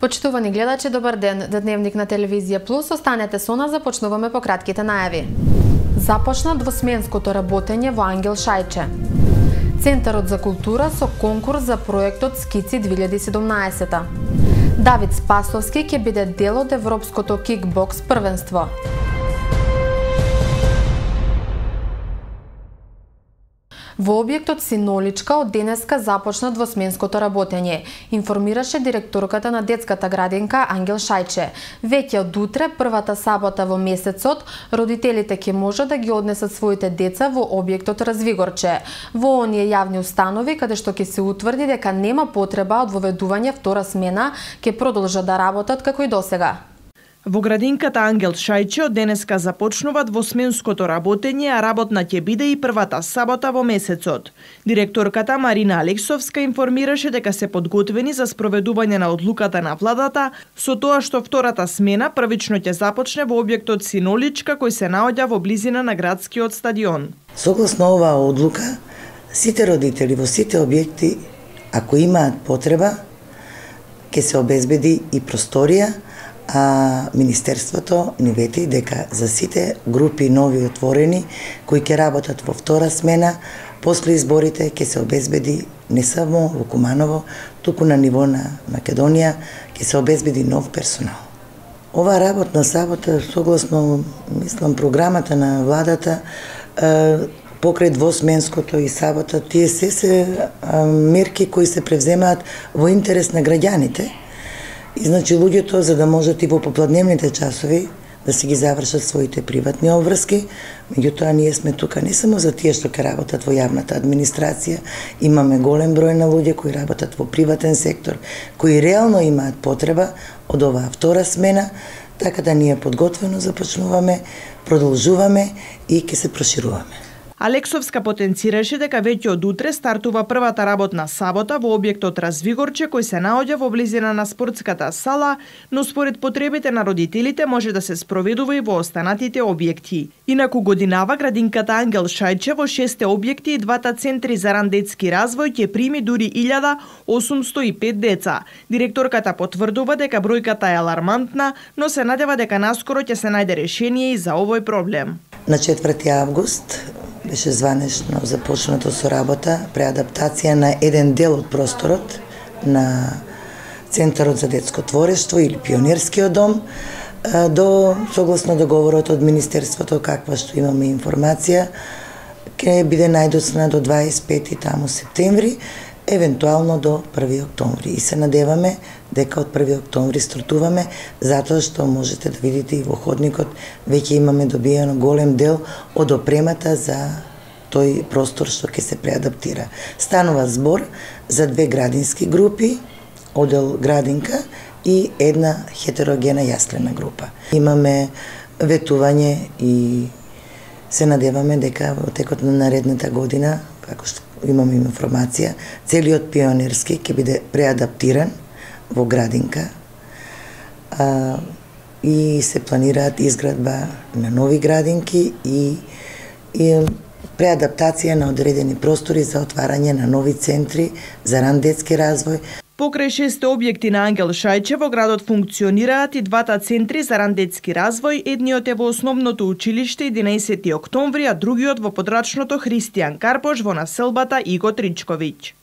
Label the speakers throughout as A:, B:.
A: Почитувани гледачи, добар ден. Дневник на Телевизија Плюс, останете со нас, започнуваме по кратките најави. Започна двосменското работење во Ангел Шајче. Центарот за култура со конкурс за проектот Скици 2017. Давид Спасовски ќе биде дел од Европското кикбокс првенство. Во објектот Синоличка од денеска започна двосменското работење, информираше директорката на детската градинка Ангел Шајче. Веќе од утре, првата сабота во месецот, родителите ќе можат да ги однесат своите деца во објектот Развигорче. Во оние јавни установи каде што ќе се утврди дека нема потреба од воведување втора смена, ќе продолжат да работат како и досега.
B: Во градинката Ангел Шајче од денеска започнува двосменското работење, а работна ќе биде и првата сабота во месецот. Директорката Марина Алексовска информираше дека се подготвени за спроведување на одлуката на владата, со тоа што втората смена првично ќе започне во објектот Синоличка, кој се наоѓа во близина на градскиот стадион.
C: Согласно оваа одлука, сите родители во сите објекти, ако имаат потреба, ќе се обезбеди и просторија, а Министерството ни вети дека за сите групи нови отворени кои ќе работат во втора смена, после изборите ќе се обезбеди не само во Куманово, туку на ниво на Македонија ќе се обезбеди нов персонал. Ова работна сабота, согласно мислам програмата на владата, покрај двосменското и сабота, тие се мерки кои се превземаат во интерес на граѓаните. И значи луѓето, за да можат и во попладневните часови да си ги завршат своите приватни обврски, меѓутоа ние сме тука не само за тие што ќе работат во јавната администрација, имаме голем број на луѓе кои работат во приватен сектор, кои реално имаат потреба од оваа втора смена, така да ние подготвено започнуваме, продолжуваме и ќе се прошируваме.
B: Алексовска потенцираше дека веќе од утре стартува првата работна сабота во објектот Развигорче, кој се наоѓа во близина на спортската сала, но според потребите на родителите може да се спроведува и во останатите објекти. Инаку годинава градинката Ангел Шајче во 6 објекти и двата центри за ран детски развој ќе прими дури 1805 деца. Директорката потврдува дека бројката е алармантна, но се надева дека наскоро ќе се најде решение и за овој проблем.
C: На 4 август беше званешно започнато со работа преадаптација на еден дел од просторот на Центарот за детско творештво или Пионерскиот дом до согласно договорот од Министерството, каква што имаме информација, ќе биде најдоцна до 25 таму септември, евентуално до 1 октомври. И се надеваме дека од 1 октомври стартуваме, затоа што можете да видите и во ходникот веќе имаме добиено голем дел од опремата за тој простор што ќе се преадаптира. Станува збор за 2 градински групи, одел градинка и една хетерогена јаслена група. Имаме ветување и се надеваме дека во текот на наредната година, како што имаме информација, целиот Пионерски ќе биде преадаптиран во градинка и се планираат изградба на нови градинки и преадаптација на одредени простори за отварање на нови центри за ран детски развој.
B: Покрај 6 објекти на Ангел Шајче во градот функционираат и двата центри за ран детски развој, едниот е во основното училиште 11 октомври, а другиот во подрачното Христијан Карпош во населбата Иго Тричковиќ.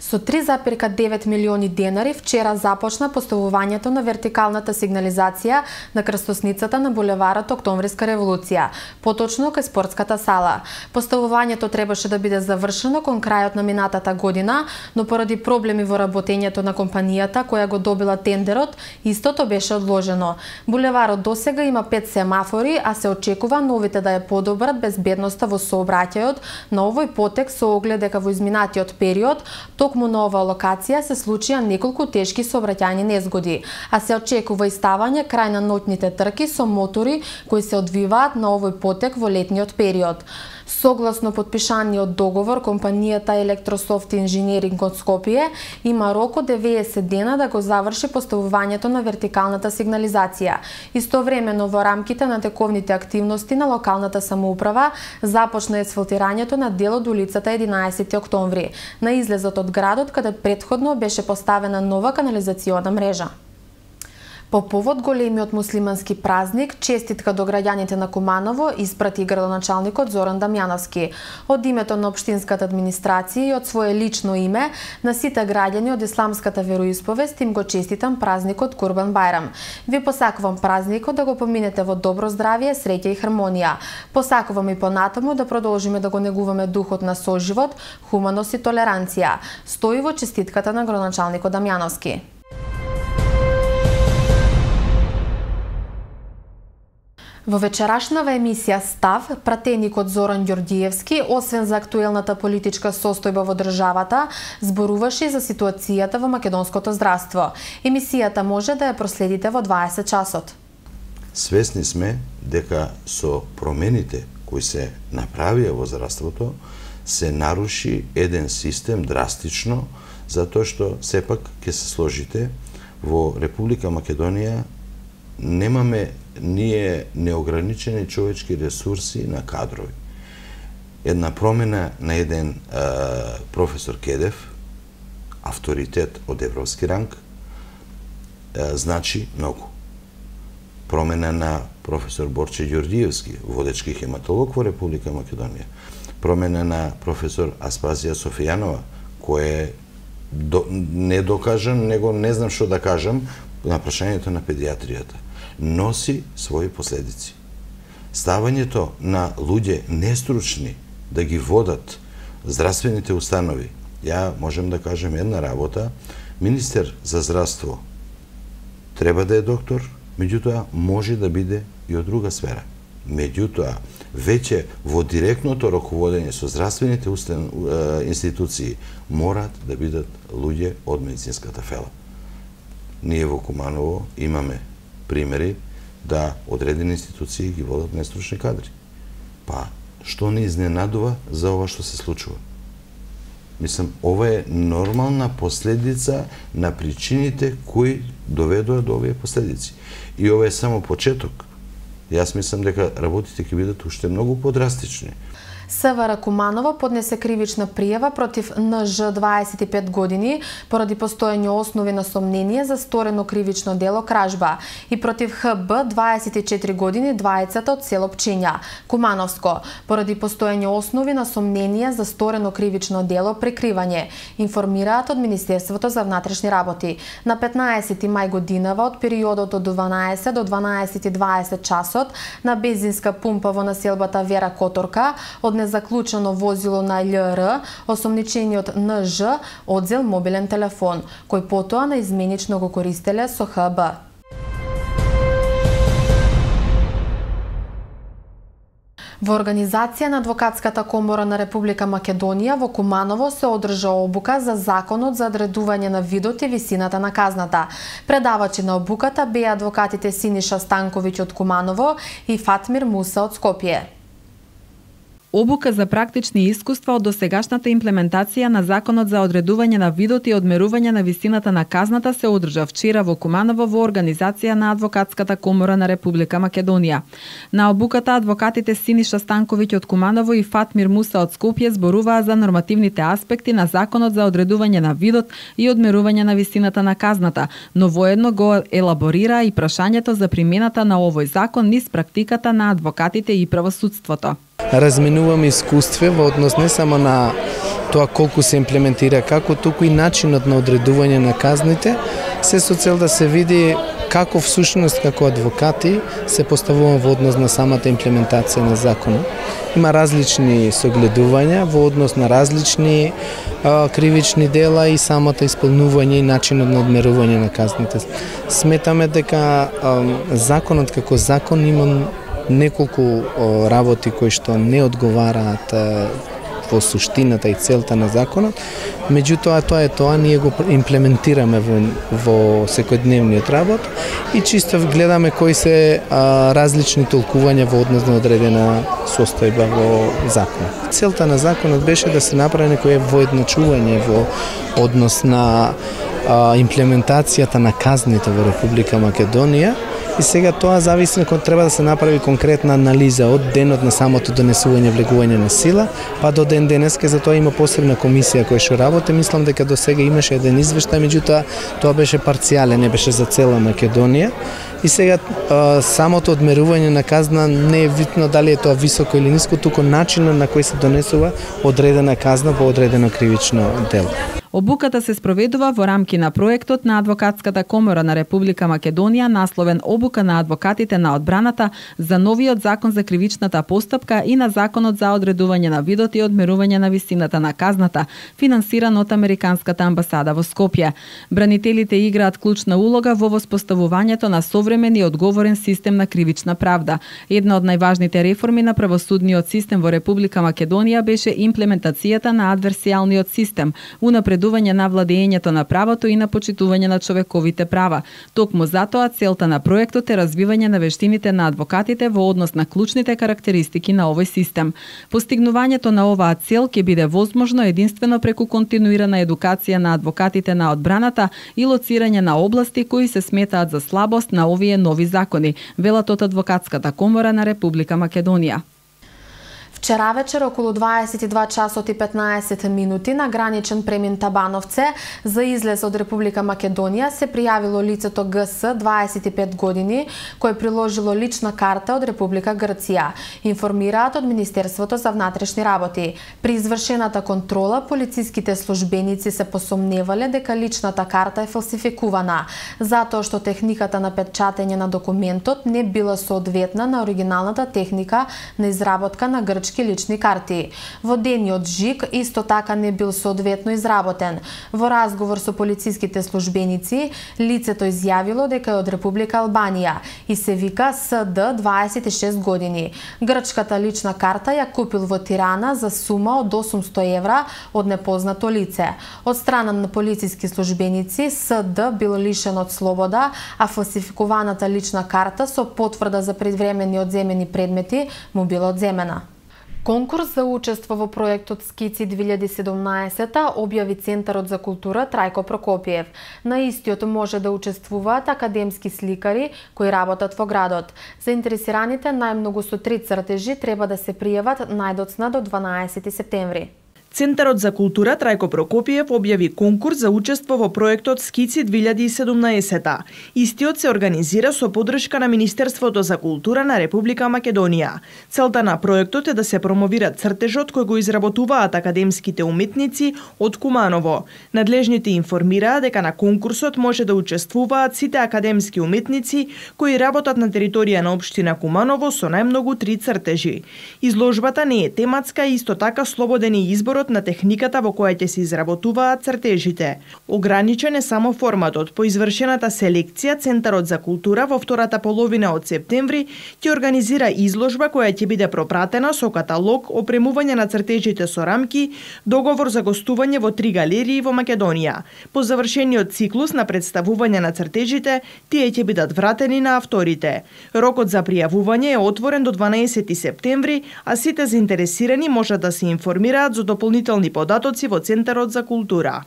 A: Со 3,9 милиони денари вчера започна поставувањето на вертикалната сигнализација на крстосницата на булеварот Октомвриска револуција, поточно кај спортската сала. Поставувањето требаше да биде завршено кон крајот на минатата година, но поради проблеми во работењето на компанијата која го добила тендерот, истото беше одложено. Булеварот досега има 5 семафори, а се очекува новите да ја подобрат безбедноста во сообраќајот на овој потек со оглед дека во изминатиот период токму на оваа локација се случија неколку тешки сообраќајни незгоди, а се очекува и ставање крај на ноќните трки со мотори кои се одвиваат на овој потек во летниот период. Согласно подпишаниот договор, компанијата Електрософт Инженеринг од Скопје има рок од 90 дена да го заврши поставувањето на вертикалната сигнализација. Истовремено во рамките на тековните активности на локалната самоуправа започна асфалтирањето на дел од улицата 11 октомври, на излезот од градот каде претходно беше поставена нова канализациона мрежа. По повод големиот муслимански празник, честитка до граѓаните на Куманово испрати градоначалникот Зоран Дамјановски. Од името на општинската администрација и од свое лично име на сите граѓани од исламската вероисповест им го честитам празникот Курбан Бајрам. Ви посакувам празникот да го поминете во добро здравје, среќа и хармонија. Посакувам и понатаму да продолжиме да го негуваме духот на соживот, хуманост и толеранција. Стои во честитката на градоначалникот Дамјановски. Во вечерашнава емисија Став, пратеникот Зоран Ѓорѓиевски, освен за актуелната политичка состојба во државата, зборуваше за ситуацијата во македонското здравство. Емисијата може да ја проследите во 20 часот.
D: Свесни сме дека со промените кои се направија во здравството, се наруши еден систем драстично, затоа што сепак ќе се сложите во Република Македонија немаме ние неограничени човечки ресурси на кадрови. Една промена на еден професор Кедев, авторитет од европски ранг, значи многу. Промена на професор Борче Ѓорѓиевски, водечки хематолог во Република Македонија. Промена на професор Аспазија Софијанова, кој е недокажан, него не знам што да кажам, на прашањето на педиатријата. Носи своји последици. Ставањето на луѓе нестручни да ги водат здравствените установи. Ја можем да кажем една работа, министер за здравство треба да е доктор, меѓутоа може да биде и од друга сфера. Меѓутоа, веќе во директното раководење со здравствените институции морат да бидат луѓе од медицинската фела. Ние во Куманово имаме примери да одредени институции ги водат нестручни кадри. Па, што не изненадува за ова што се случува? Мислам, ова е нормална последица на причините кои доведоа до овие последици. И ова е само почеток. Јас мислам дека работите ќе бидат уште многу подрастични.
A: СВР Куманово поднесе кривична пријава против НЖ 25 години поради постоење основи на сомнение за сторено кривично дело кражба и против ХБ 24 години двајцата од село Пчиња, Кумановско, поради постоење основи на сомнение за сторено кривично дело прикривање, информираат од Министерството за внатрешни работи. На 15 мај годинава од периодот од 12 до 12:20 часот на бензинска пумпа во населбата Вера Которка од незаклучено возило на љР, осомничениот НЖ одзел мобилен телефон, кој потоа на изменично го користеле со ХБ. Во организација на Адвокатската комора на Република Македонија во Куманово се одржа обука за законот за одредување на видот и висината на казната. Предавачи на обуката беа адвокатите Синиша Станковиќ од Куманово и Фатмир Муса од Скопје.
E: Обука за практични искуства од досегашната имплементација на Законот за одредување на видот и одмерување на висината на казната се одржа вчера во Куманово во организација на Адвокатската комора на Република Македонија. На обуката адвокатите Синиша Станковиќ од Куманово и Фатмир Муса од Скопје зборуваа за нормативните аспекти на Законот за одредување на видот и одмерување на висината на казната, но воедно го елаборира и прашањето за примената на овој закон низ практиката на адвокатите и правосудството.
F: Разменуваме искуство во однос не само на тоа колку се имплементира како, туку и начинот на одредување на казните, се со цел да се види како всушност како адвокати се поставуваме во однос на самата имплементација на законот. Има различни согледувања во однос на различни кривични дела и самото исполнување и начинот на одмерување на казните. Сметаме дека законот како закон има неколку работи кои што не одговараат во суштината и целта на законот, меѓутоа тоа ние го имплементираме во секојдневниот работ и чисто гледаме кои се различни толкувања во однос на одредена состојба во законот. Целта на законот беше да се направи некое воедначување во однос на имплементацијата на казните во Република Македонија и сега тоа зависи кога треба да се направи конкретна анализа од денот на самото донесување влегување на сила, па до ден денеска. За тоа има посебна комисија која што работи. Мислам дека до сега имаше еден извештај, меѓутоа тоа беше парцијален, не беше за цела Македонија. И сега самото одмерување на казна не е битно дали е тоа високо или ниско, туку начинот на кој се донесува одредена казна по одредено кривично дело.
E: Обуката се спроведува во рамки на проектот на Адвокатската комора на Република Македонија, насловен Обука на адвокатите на одбраната за новиот закон за кривичната постапка и на законот за одредување на видот и одмерување на висината на казната, финансиран од Американската амбасада во Скопје. Бранителите играат клучна улога во воспоставувањето на современ и одговорен систем на кривична правда. Една од најважните реформи на правосудниот систем во Република Македонија беше имплементацијата на адверсијалниот систем, унапредување на владењето на правото и на почитување на човековите права. Токму затоа целта на проектот е развивање на вештините на адвокатите во однос на клучните карактеристики на овој систем. Постигнувањето на оваа цел ќе биде возможно единствено преку континуирана едукација на адвокатите на одбраната и лоцирање на области кои се сметаат за слабост на овие нови закони, велат од Адвокатската комора на Република Македонија.
A: Вчера вечер околу 22 часот и 15 минути на граничен премин Табановце за излез од Република Македонија се пријавило лицето ГС 25 години кој приложило лична карта од Република Грција, информираат од Министерството за внатрешни работи. При извршената контрола полициските службеници се посомневале дека личната карта е фалсификувана, затоа што техниката на печатење на документот не била соодветна на оригиналната техника на изработка на грчки лични карти. Водениот жиг исто така не бил соодветно изработен. Во разговор со полициските службеници, лицето изјавило дека е од Република Албанија и се вика СД 26 години. Грчката лична карта ја купил во Тирана за сума од 800 евра од непознато лице. Од страна на полициски службеници, СД бил лишен од слобода, а фалсификуваната лична карта со потврда за предвремени одземени предмети му била одземена. Конкурс за учество во проектот Скици 2017 објави Центарот за култура Трајко Прокопиев. На истиот може да учествуваат академски сликари кои работат во градот. Заинтересираните најмногу со 3 цртежи треба да се пријават најдоцна до 12 септември.
B: Центарот за култура Трајко Прокопиев објави конкурс за учество во проектот Скици 2017. Истиот се организира со поддршка на Министерството за култура на Република Македонија. Целта на проектот е да се промовира цртежот кој го изработуваат академските уметници од Куманово. Надлежните информираа дека на конкурсот може да учествуваат сите академски уметници кои работат на територија на општина Куманово со најмногу 3 цртежи. Изложбата не е тематска и исто така слободен е изборот на техниката во која ќе се изработуваат цртежите. Ограничен е само форматот. По извршената селекција, Центарот за култура во втората половина од септември ќе организира изложба која ќе биде пропратена со каталог, опремување на цртежите со рамки, договор за гостување во 3 галерии во Македонија. По завршениот циклус на представување на цртежите, тие ќе бидат вратени на авторите. Рокот за пријавување е отворен до 12 септември, а сите заинтересирани можат да се информираат за дополнителни податоци во Центарот за култура.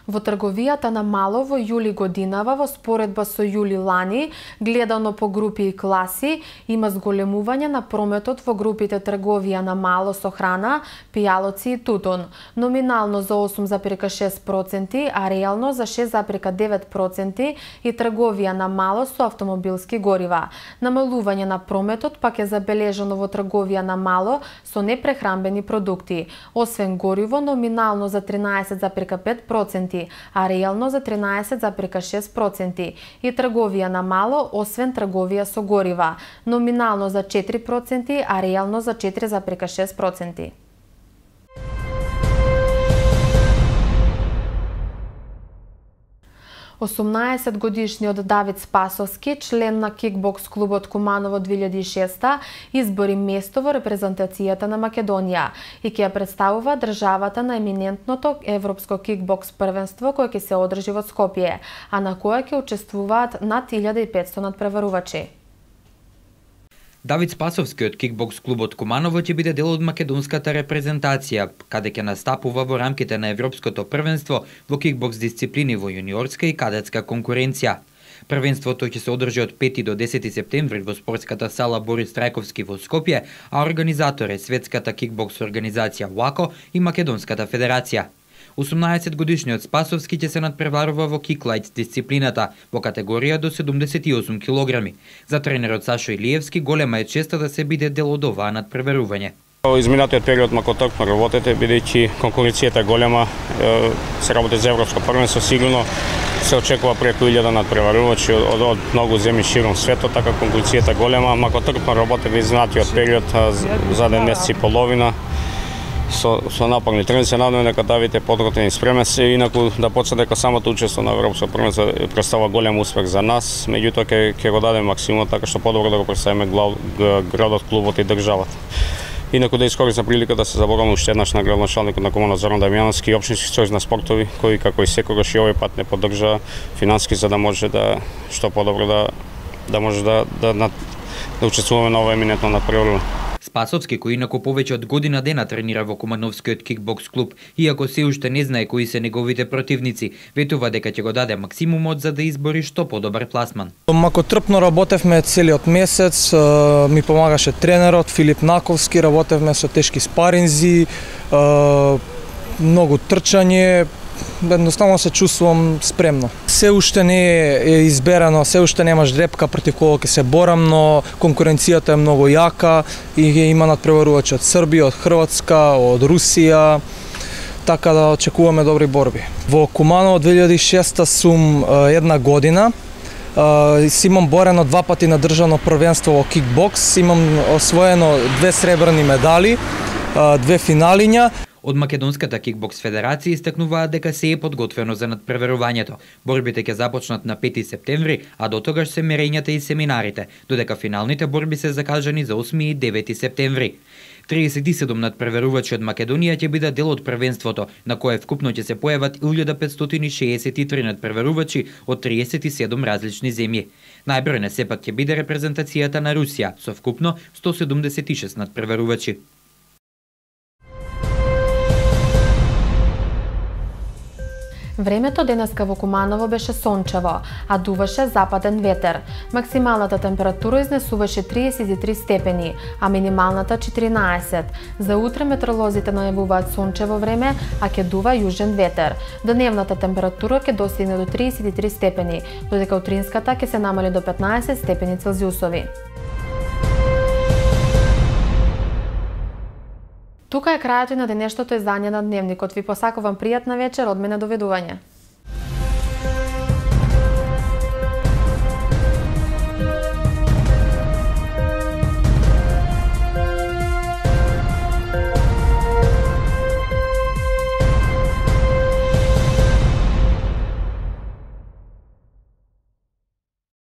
A: Во трговијата на мало во јули годинава, во споредба со јули лани, гледано по групи и класи, има зголемување на прометот во групите трговија на мало со храна, пијалоци и тутун. Номинално за 8,6%, а реално за 6,9% и трговија на мало со автомобилски горива. Намалување на прометот пак е забележано во трговија на мало со непрехранбени продукти. Освен гориво, номинално за 13,5%, а реално за 13,6% и трговија на мало, освен трговија со горива, номинално за 4%, а реално за 4,6%. Осумнаесетгодишниот Давид Спасовски, член на кикбокс клубот Куманово 2006, избори место во репрезентацијата на Македонија и ќе ја представува државата на еминентното европско кикбокс првенство кое ќе се одржи во Скопје, а на кое ќе учествуваат над 1500 надпреварувачи.
G: Давид Спасовски од кикбокс клубот Куманово ќе биде дел од македонската репрезентација, каде ќе настапува во рамките на европското првенство во кикбокс дисциплини во јуниорска и кадетска конкуренција. Првенството ќе се одржи од 5 до 10 септември во спортската сала Борис Трајковски во Скопје, а организатор е Светската кикбокс организација УАКО и Македонската федерација. 18-годишниот Спасовски ќе се надпреварува во киклайт дисциплината во категорија до 78 килограми. За тренерот Сашо Илиевски голема е честа да се биде дел од оваа надпреварување.
H: Изминатиот период макотокно работете, бидејќи конкуренцијата е голема, се работи за европско првенство, сигурно се очекува преку 1000 надпреварувачи од многу земји широм светот, така конкуренцијата голема, макотокно работите изминатиот период за 1 месец и половина. Со напорни тренинзи се надеваме дека давите подготвени спремен се, инаку да почне дека самото учество на европско првенство представува голем успех за нас, меѓутоа ќе го дадеме максимум така што подобро да го представиме градот, клубот и државата. Инаку да искористам прилика да се заборам уште еднаш на градоначалникот на комуна Зоран Дамјановски и општински сојуз на спортови, кој како и секогаш и овој пат не поддржа финански за да може да што подобро да може да учествуваме на ова еминентно надпреварување.
G: Спасовски, кој инаку повеќе од година дена тренира во Кумановскиот кикбокс клуб, иако се уште не знае кои се неговите противници, ветува дека ќе го даде максимумот за да избори што подобар пласман.
I: Макотрпно работевме целиот месец, ми помагаше тренерот Филип Наковски, работевме со тешки спаринзи, многу трчање, едноставно се чувствувам спремно. Се уште не е изберано, се уште немаш дрепка против кого ќе се борам, но конкуренцијата е многу јака и има надпреварувачи од Србија, од Хрватска, од Русија, така да очекуваме добри борби. Во Куманово 2006 сум 1 година, имам борено 2 пати на државно првенство во кикбокс, имам освоено 2 сребрни медали, 2 финалиња.
G: Од Македонската кикбокс федерација истакнуваат дека се е подготвено за надпреварувањето. Борбите ќе започнат на 5 септември, а до тогаш се мерењата и семинарите, додека финалните борби се закажани за 8 и 9 септември. 37 надпреварувачи од Македонија ќе бидат дел од првенството, на кое вкупно ќе се појават 1563 надпреварувачи од 37 различни земји. Најбројна сепак ќе биде репрезентацијата на Русија, со вкупно 176 надпреварувачи.
A: Времето денеска во Куманово беше сончево, а дуваше западен ветер. Максималната температура изнесуваше 33 степени, а минималната 14. За утре метеоролозите најавуваат сончево време, а ќе дува јужен ветер. Дневната температура ќе достигне до 33 степени, додека утринската ќе се намали до 15 степени Целзиусови. Тука е крајот и на денешното издание на Дневникот. Ви посакувам пријатна вечер, од мене доведување.